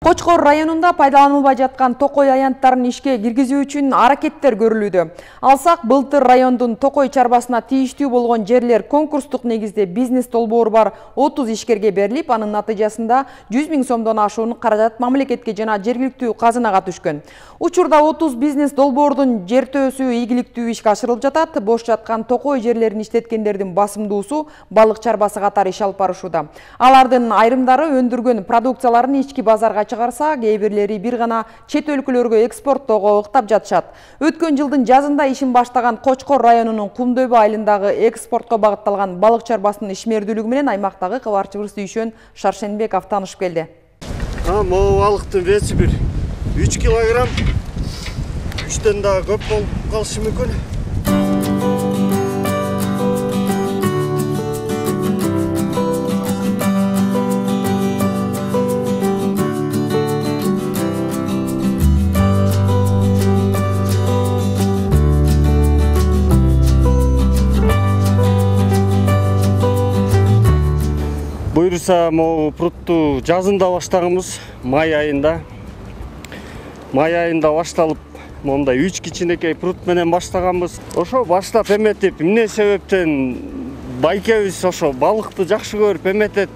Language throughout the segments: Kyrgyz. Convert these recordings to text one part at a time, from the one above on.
Кочкор районунда пайдаланылбай жаткан токой аянттарын ишке киргизүү үчүн аракеттер көрүлүүдө. Алсак, былтыр райондун токой чарбасына тийиштүү болгон жерлер конкурстук негизде бизнес долбоору бар 30 ишкерге берилип, анын натыйжасында 100 000 сомдон ашуун каражат мамлекетке жана жергиликтүү казынага түшкөн. Учурда 30 бизнес долбоордун жертөөсү ийгиликтүү ишке ашырылып жатат. Бош жаткан токой жерлерин иштеткендердин басымдуусу балык чарбасы катары иш алып барышууда. Алардын айрымдары өндүргөн продукцияларын ички базарга чыгарса, кээ бирлери бир гана чет өлкөлөргө экспорттоого ыктап жатышат. Өткөн жылдын жазында ишин баштаган Кочкор районунун Кумдөбө айылындагы экспортко багытталган балык чарбасынын ишмердүүлүгү менен аймактагы кабарчыбыз Дүйшөн Шаршенбеков таанышып келди. Могу балыктын веси бир 3 килограмм, 3төн дагы көп болуп калышы мүмкүн. Буюрса, могу прутту жазында баштаганбыз, май айында. Май айында башталып, мондай 3 кичинекей прут менен баштаганбыз. Ошо баштап эметип, эмне себептен байкебиз ошо балыкты жакшы көрүп эметет.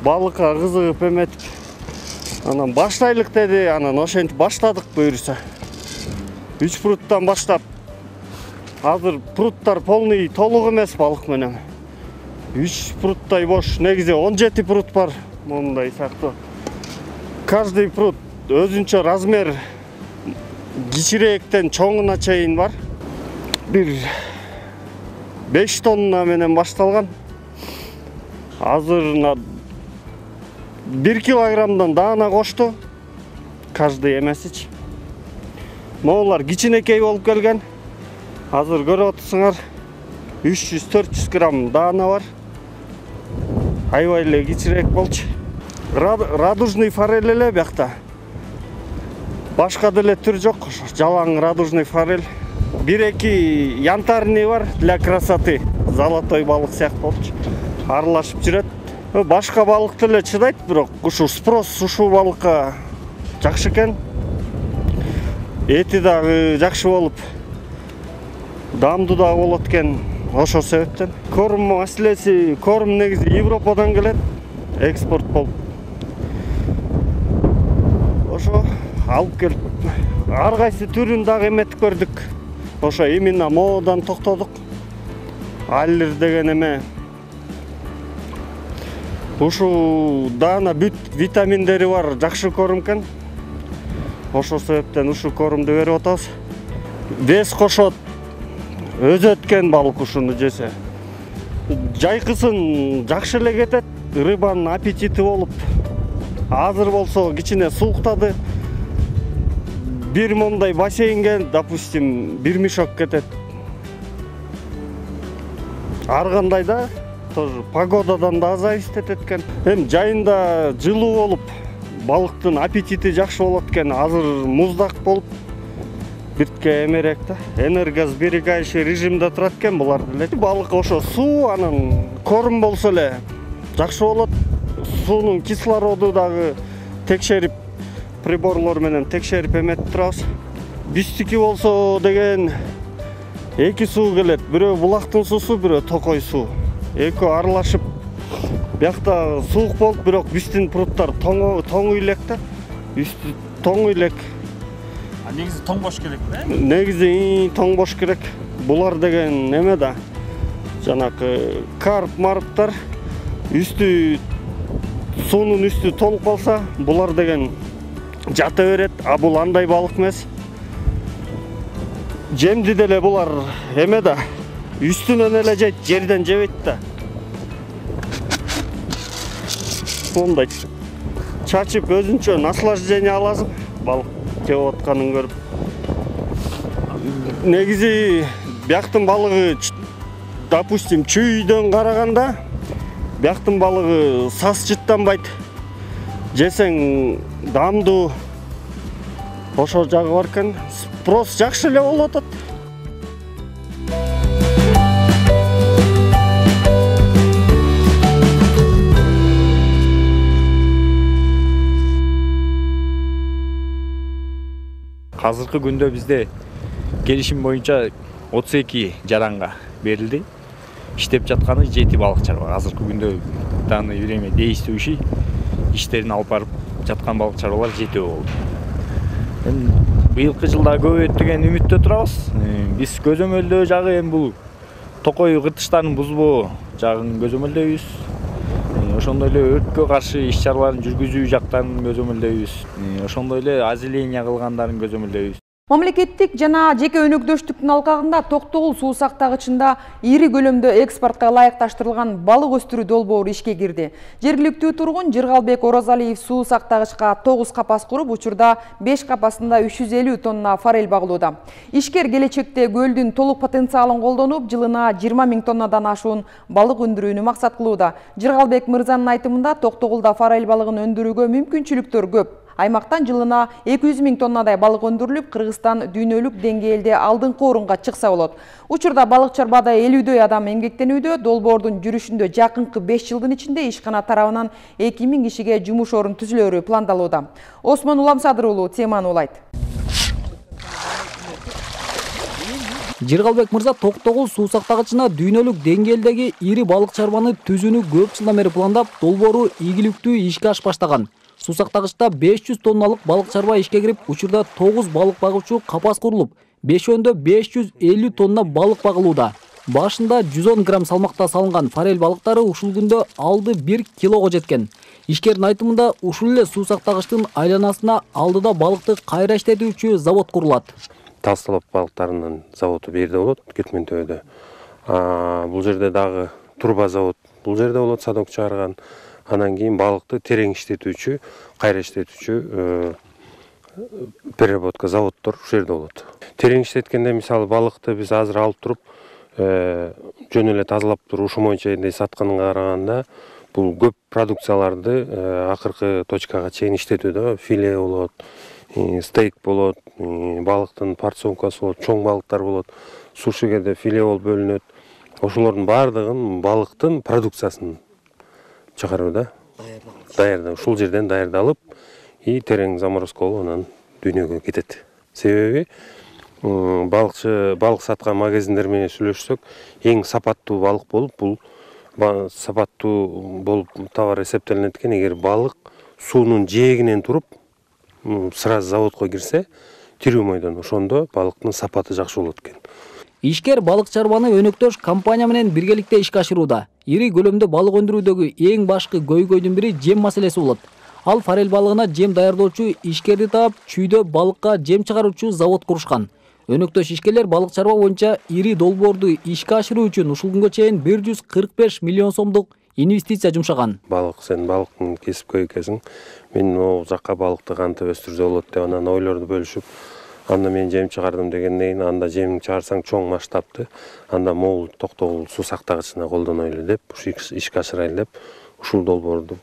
Балыкка кызыгып эметип, анан баштайлык деди, анан ошентип баштадык буюрса. 3 пруттан баштап, азыр пруттар полный толук эмес балык менен. 3 пруттай бош, негизи 17 прут бар, мондай сыяктуу. Каждый прут өзүнчө размер кичирээктен чоңуна чейин бар. Бир 5 тонна менен башталган. Азыр 1 килограммдан даана кошту. Каждый эмесичи. Моулар кичинекей болуп келген. Азыр көрүп атсыңар, 300-400 грамм даана бар. Аябай эле кичирээк болчу. Радужный форель эле биякта. Башка деле түр жок, жалаң радужный форель. 1-2 янтарный бар для красоты. Золотой балык сыяктуу болчу. Аралашып жүрөт. Башка балык деле чыдайт, бирок ушу спрос ушул балыкка жакшы экен. Эти дагы жакшы болуп, даамдуу дагы болот экен. Ошол себептен корм маселеси, корм негизи Европадан келет, экспорт болуп. Ошо алып келип, ар кайсы түрүн дагы эметип көрдүк. Ошо именно моодан токтодук. Аллер деген эме. Ушу даана бүт витаминдери бар, жакшы корм экен. Ошол себептен ушу кормду берип атабыз. Вес кошот. Өзү өткөн балык ушуну жесе. Жайкысын жакшы эле кетет, рыбанын аппетити болуп. Азыр болсо кичине сууктады. Бир мондай бассейнге, допустим, бир мешок кетет. Ар кандай да, тоже погодадан да зависит этет экен. Эми жайында жылуу болуп, балыктын аппетити жакшы болот экен. Азыр муздак болуп, биртке эмерек да, энергосберегающий режимде турат экен булар деле. Балык ошо суу, анан корм болсо эле жакшы болот. Суунун кислороду дагы текшерип, приборлор менен текшерип эметип турабыз. Бизтики болсо деген 2 суу келет. Бирөө булактын суусу, бирөө токой суу. Экөө аралашып, биякта суук болуп, бирок биздин пруттар тоң үйлек да. Үстү тоң үйлек. Негизи тоң бош керек да? Негизи тоң бош керек. Булар деген эме да. Жанакы карп, марптар үстү суунун үстү толуп калса, булар деген жата берет, а бул андай балык эмес. Жемди деле булар эме да, үстүнөн эле жейт, жерден жебейт да. Мондай чачып өзүнчө наслаждение аласың, балык жеп атканын көрүп. Негизи бияктын балыгы, допустим, чүйдөн караганда бияктын балыгы сас жыттанбайт. Жесең даамдуу, ошол жагы бар экен. Спрос жакшы эле болуп атат. Азыркы күндө бизде келишим боюнча 32 жаранга берилди. Иштеп жатканы 7 балыкчар бар. Азыркы күндө данный время действующий иштерин алып барып жаткан балыкчарлар 7 болду. Быйылкы жылда көбөйөт деген үмүттө турабыз. Биз көзөмөлдөө жагы эми бул токой кыртыштарын бузбоо жагын көзөмөлдөйбүз. Ошондой эле өрткө каршы иш-чараларын жүргүзүү жактарын көзөмөлдөйбүз. Ошондой эле озеление кылгандарын көзөмөлдөйбүз. Мамлекеттик жана жеке өнөктөштүктүн алкагында Токтогул суу сактагычында ири көлөмдө экспортко ылайыкташтырылган балык өстүрүү долбоору ишке кирди. Жергиликтүү тургун Жыргалбек Орозалиев суу сактагычка 9 капас куруп, учурда 5 капасында 350 тонна форель багылууда. Ишкер келечекте көлдүн толук потенциалын колдонуп, жылына 20 000 тоннадан ашуун балык өндүрүүнү максат кылууда. Жыргалбек мырзанын айтымында Токтогулда форель балыгын өндүрүүгө мүмкүнчүлүктөр көп. Аймактан жылына 200 000 тоннадай балык өндүрүлүп, Кыргызстан дүйнөлүк деңгээлде алдыңкы орунга чыкса болот. Учурда балык чарбада 50дөй адам эмгектенүүдө. Долбоордун жүрүшүндө жакынкы 5 жылдын ичинде ишкана тарабынан 2000 кишиге жумуш орун түзүлөрү пландалууда. Осмон Уламсадыр уулу теманы улайт. Жыргалбек мырза Токтогул суу сактагычына дүйнөлүк деңгээлдеги ири балык чарбаны түзүүнү көп жылдан бери пландап, долбоору ийгиликтүү ишке аш баштаган. Суу сактагычта 500 тонналык балык чарба ишке кирип, учурда 9 балык багуучу капас курулуп, 5өндө 550 тонна балык багылууда. Башында 110 грамм салмакта салынган форель балыктары ушул күндө алды 1 килого жеткен. Ишкердин айтымында ушул эле суу сактагычтын айланасына алдыда балыкты кайра иштетүүчү завод курулат. Талстолоп балыктарынын заводу бул жерде болот, Кетментөбөдө. Бул жерде дагы турба завод бул жерде болот, садок чыгарган. Анан кийин балыкты терең иштетүүчү, кайра иштетүүчү переработка заводдор ушул жерде болот. Терең иштеткенде мисалы балыкты биз азыр алып туруп, жөн эле тазалап туруп ушул боюнча сатканга караганда бул көп продукцияларды акыркы точкага чейин иштетүүдө филе болот, стейк болот, балыктын порционкасы болот, чоң балыктар болот, сушигеде филе болуп бөлүнөт. Ошолордун баардыгын балыктын продукциясын чыгарууда, даярдап, ушул жерден даярдалып, терең заморозка болуп анан дүйнөгө кетет. Себеби балык саткан магазиндер менен сүйлөшсөк, эң сапаттуу балык болуп, бул сапаттуу болуп товар эсептелинет экен. Эгер балык суунун жээгинен туруп, сразу заводко кирсе, тирүү мойдон, ошондо балыктын сапаты жакшы болот экен. Ишкер балык чарбаны өнөктөш компания менен биргеликте ишке ашырууда. Ири көлөмдө балык өндүрүүдөгү эң башкы көйгөйдүн бири жем маселеси болот. Ал форель балыгына жем даярдоочу ишкерди таап, чүйдө балыкка жем чыгаруучу завод курушкан. Өнөктөш ишкерлер балык чарба боюнча ири долбоорду ишке ашыруу үчүн ушул күнгө чейин 145 миллион сомдук инвестиция жумшаган. Сен балыктын кесипкөй экенсиң, мен могул жакка балыкты кантип өстүрсө болот деп анан ойлорду бөлүшүп, анда мен жем чыгардым дегенден кийин, анда жем чыгарсаң чоң масштабты, анда могул Токтогул суу сактагычына колдонойлу деп, ишке ашырайлы деп, ушул долбоорду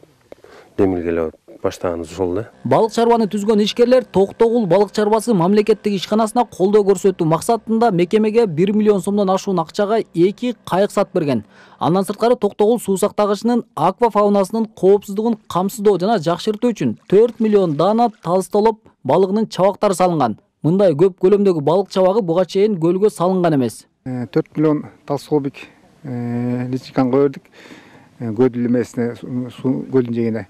демилгелеп баштаганыбыз ошол да. Балык чарбаны түзгөн ишкерлер Токтогул балык чарбасы мамлекеттик ишканасына колдоо көрсөтүү максатында мекемеге 1 миллион сомдон ашуун акчага 2 кайык сатып берген. Андан сырткары Токтогул суу сактагычынын аквафаунасынын коопсуздугун камсыздоо жана жакшыртуу үчүн 4 миллион дана талстолоп балыгынын чабактары салынган. Мындай көп көлөмдөгү балык чабагы буга чейин көлгө салынган эмес. 4 миллион талстолбик личинканы койдук. Көдүл эмесине, көлдүн жээгине.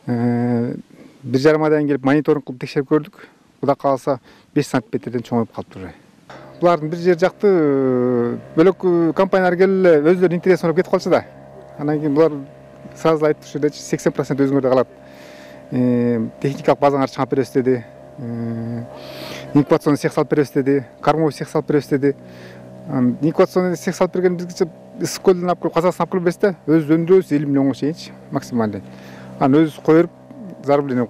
1,5 айдан келип мониторинг кылып текшерип көрдүк. Кудай кааласа 5 сантиметрден чоңоюп калыптыр. Булардын бир жер жакты бөлөк компаниялар келип эле өздөрүнүн интересин ойлоп кетип калчу да. Анан кийин булар сразу айтты, ушул жерде 80% өзүңөрдө калат. Техникалык базаңар чыгып беребиз деди. Инкубационный цех салып беребиз деди. Кормовой цех салып беребиз деди. Инкубационный цех салып берген бизге ысык көлдөн алып келип, Казакстандан алып келип берсе да, өз өндүрөбүз 50 миллионго чейинчи максималды. Анан өзүбүз коюп, зарубление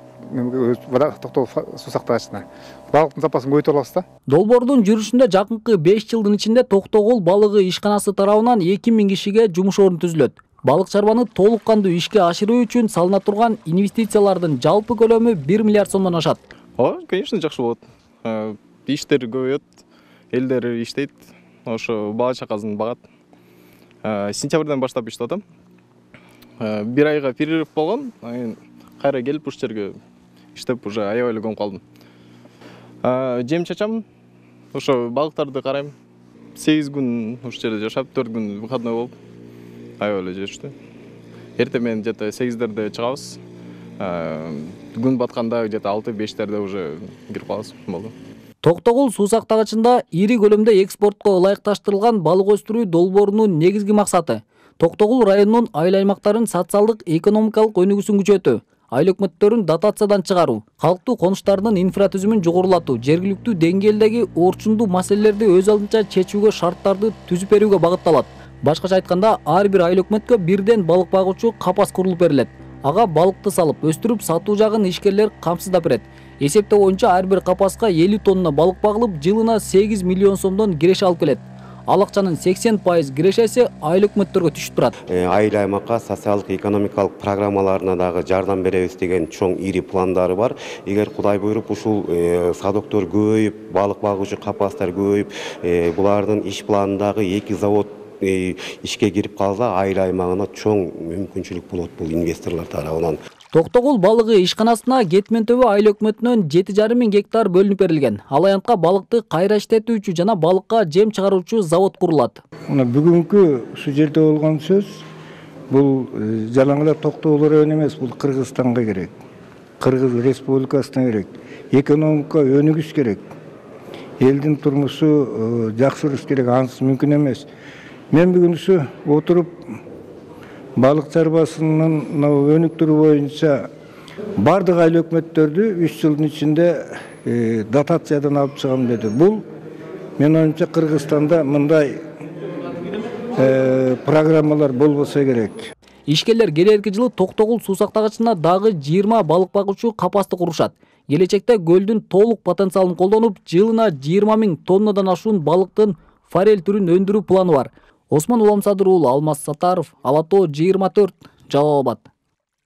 Токтогул суу сактагычына балыктын запасын көбөйтө алабыз да. Долбоордун жүрүшүндө жакынкы 5 жылдын ичинде Токтогул балыгы ишканасы тарабынан 2000 кишиге жумуш орун түзүлөт. Балык чарбаны толук кандуу ишке ашыруу үчүн салына турган инвестициялардын жалпы көлөмү 1 миллиард сомдон ашат. Конечно, жакшы болот. Иштер көбөйөт, элдер иштейт, ошо бала чакасын багат. Сентябрдан баштап иштеп атам. 1 айга перерыв болгон, кайра келип ушул жерге иштеп уже аябай эле көмүп калдым. Жем чачам, ошо балыктарды карайм. 8 күн ушул жерде жашап, 4 күн выходной болуп, аябай эле жешти. Эртең менен где-то 8-дерде чыгабыз. Күн батканда где-то 6-5-дерде уже кирип калабыз болду. Токтогул суу сактагычында ири көлөмдө экспортко ылайыкташтырылган балык өстүрүү долбоорунун негизги максаты Токтогул районунун айыл аймактарын социалдык экономикалык өнүгүүсүн күчөтүү, айыл өкмөттөрүн дотациядан чыгаруу, калктуу конуштардын инфратүзүмүн жогорулатуу, жергиликтүү деңгээлдеги орчундуу маселелерди өз алдынча чечүүгө шарттарды түзүп берүүгө багытталат. Башкача айтканда, ар бир айыл өкмөткө бирден балык багуучу капас курулуп берилет. Ага балыкты салып, өстүрүп сатуу жагын ишкерлер камсыздап берет. Эсептөө боюнча ар бир капаска 50 тонна балык багылып, жылына 8 миллион сомдон киреше алып келет. Ал акчанын 80% кирешеси айыл өкмөттөргө түшүп турат. Айыл аймакка социалдык экономикалык программаларына дагы жардам беребиз деген чоң ири пландары бар. Эгер Кудай буйруп ушул садоктор көбөйүп, балык багуучу капастар көбөйүп, булардын иш планындагы 2 завод ишке кирип калса, айыл аймагына чоң мүмкүнчүлүк болот бул инвесторлор тарабынан. Токтогул балыгы ишканасына Кетмен төбө айыл өкмөтүнөн 7,5 мың гектар бөлүнүп берилген. Ал аянтка балыкты кайра иштетүүчү жана балыкка жем чыгаруучу завод курулат. Мына бүгүнкү ушул жерде болгон сөз бул жалаң эле Токтогул району эмес, бул Кыргызстанга керек. Кыргыз Республикасына керек. Экономика өнүгүш керек. Элдин турмушу жакшырыш керек, ансыз мүмкүн эмес. Мен бүгүнкү отуруп балык чарбасынын өнүктүрүү боюнча бардык айыл өкмөттөрдү 3 жылдын ичинде дотациядан алып чыгам деди. Бул мен оюмча Кыргызстанда мындай программалар болбосо керек. Ишкерлер келерки жылы Токтогул суу сактагычына дагы 20 балык багуучу капасты курушат. Келечекте көлдүн толук потенциалын колдонуп, жылына 20 000 тоннадан ашуун балыктын форель түрүн өндүрүү планы бар. Осман Уламсадыр уулу, Алмаз Сатаров, Ала Тоо 24, Жалал Абад.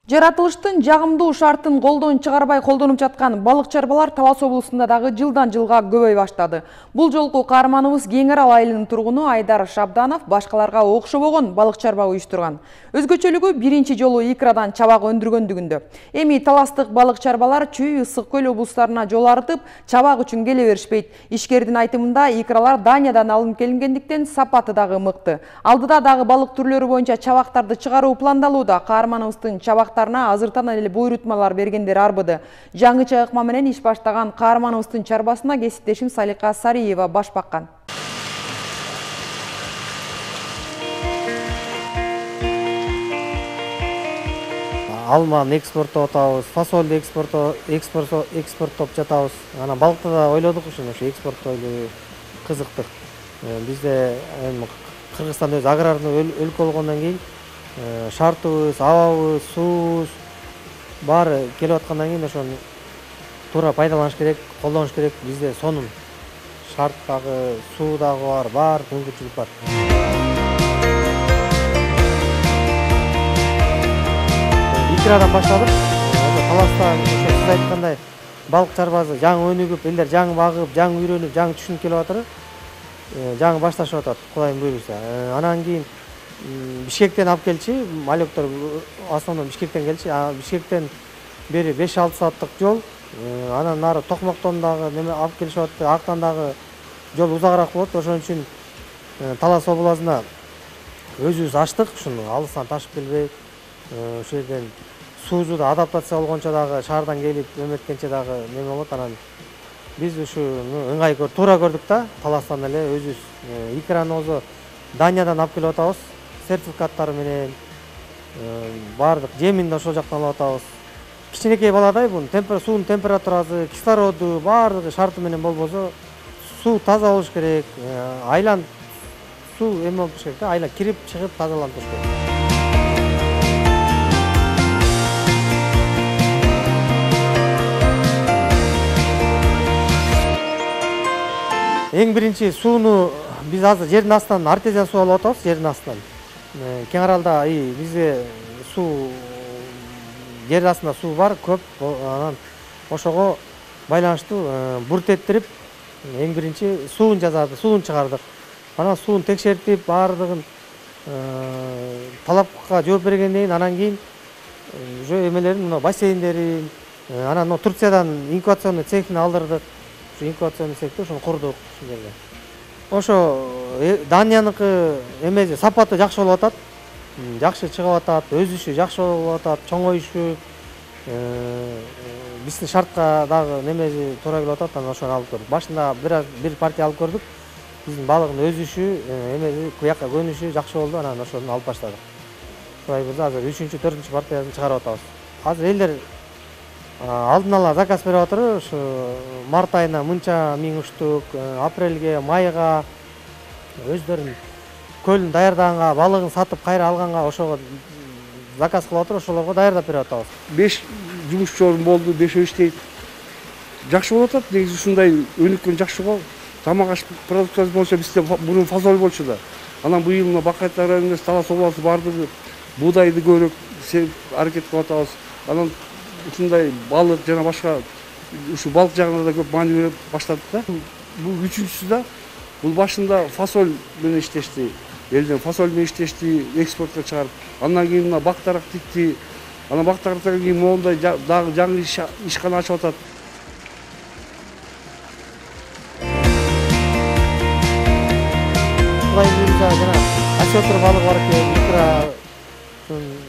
Жаратылыштын жагымдуу шартын колдон чыгарбай колдонуп жаткан балык чарбалар Талас облусунда дагы жылдан жылга көбөй баштады. Бул жолку каарманыбыз Кең Арал айылынын тургуну Айдар Шабданов башкаларга окшобогон балык чарба уюштурган. Өзгөчөлүгү биринчи жолу икрадан чабак өндүргөндүгүндө. Эми таластык балык чарбалар Чүй, Ысык көл облустарына жол артып, чабак үчүн келе беришпейт. Ишкердин айтымында икралар Даниядан алынып келингендиктен сапаты дагы мыкты. Алдыда дагы балык түрлөрү боюнча чабактарды чыгаруу пландалууда. Каарманыбыздын чабактарына азыртан эле буйрутмалар бергендер арбыды. Жаңыча ыкма менен иш баштаган каарманыбыздын чарбасына кесиптешим Салика Сариева баш баккан. Алманы экспорттоп атабыз, фасолду экспорттоп жатабыз. Анан балыкты да ойлодук ушуну, экспорттойлу кызыктык. Бизде Кыргызстан өз аграрный өлкө болгондон кийин шартыбыз, абабыз, суубуз баары келип аткандан кийин ошону туура пайдаланыш керек, колдонуш керек. Бизде сонун шарт дагы, суу дагы бар, баардык мүмкүнчүлүк бар. Икрадан баштадык. Таласта сиз айткандай балык чарбасы жаңы өнүгүп, элдер жаңы багып, жаңы үйрөнүп, жаңы түшүнүп келип атыр. Жаңы башташып атат, Кудайдын буйруусу. Анан кийин Бишкектен алып келчи, малектор основном Бишкектен келчи. Бишкектен бери 5-6 сааттык жол. Анан нары Токмоктон дагы неме алып келишип атты. Актан дагы жол узагыраак болот. Ошон үчүн Талас областына өзүбүз ачтык. Ушуну алыстан ташып келбей, ошол жерден суусу да адаптация болгончо дагы шаардан келип эметкенче дагы неме болот. Анан биз ушуну ыңгай туура көрдүк да, Таластан эле өзүбүз икраны өзү Даниядан алып келип атабыз. Сертификаттары менен баардык жемин да ошол жактан алып атабыз. Кичинекей баладай бунун суунун температурасы, кислороду баардыгы шарты менен болбосо, суу таза болуш керек. Айлан суу эме болуш керек да, айлан кирип чыгып тазаланып туруш керек. Эң биринчи сууну биз азыр жердин астынан артезиан суу алып атабыз, жердин астынан. Кең Аралда бизде суу жер астында суу бар, көп. Анан ошого байланыштуу буртеттирип, эң биринчи суун жазады, суун чыгардык. Анан суун текшертип, баардыгын талапка жооп бергенден кийин, анан кийин уже эмелерин, бассейндерин, анан Турциядан инкубационный цехин алдырдык. инкубационный сектор ошону курдук ушул жерде. Ошо Данияныкы эмеси сапаты жакшы болуп атат. Жакшы чыгып атат, өсүшү жакшы болуп атат, чоңоюшу биздин шартка дагы немеси туура келип атат. Анан ошону алып көрдүк. Башында бир партия алып көрдүк. Биздин балыктын өсүшү, эмеси буякка көнүшү жакшы болду. Анан ошону алып баштадык. Ошой бирде азыр 3-4 партиясын чыгарып атабыз. Азыр элдер алдын ала заказ берип атыр. Ушу март айына мынча миң уштук, апрелге, майга өздөрүнүн көлүн даярдаганга, балыгын сатып кайра алганга ошого заказ кылып атыр. Ошолорго даярдап берип атабыз. 5 жумушчу орун болду, 5 иштейт. Жакшы болуп атат. Негизи ушундай өнүккөн жакшы го. Тамак аш продукциясы боюнча бизде мурун фасоль болчу да. Анан быйыл мына Бакайт районунда талас областы бардыгы буудайды көбүрөөк аракет кылып атабыз. Анан ушундай балык жана башка ушу балык жагында да көп маани берип баштадык да. Бул үчүнчүсү да. Бул башында фасоль менен иштешти. Элден фасоль менен иштешти, экспортко чыгарып. Андан кийин мына бактарак тикти. Анан бактарактан кийин моундай дагы жаңы ишкана ачып атат. Жана осетр балыгы бар экен, икра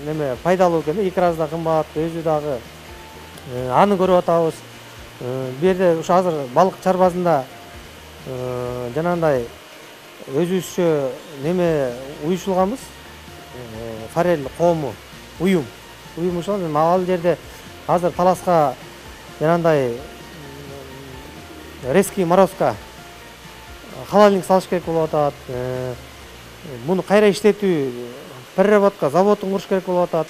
неме пайдалуу экен, икрасы да кымбат, өзү дагы аны көрүп атабыз. Бу жерде ушу азыр балык чарбасында жанагындай өзүбүзчө неме уюшулганбыз. Форель коому уюм ушул ал жерде азыр таласка жанагындай резкий морозко халалник салыш керек болуп атат. Муну кайра иштетүү переработка заводун куруш керек болуп атат.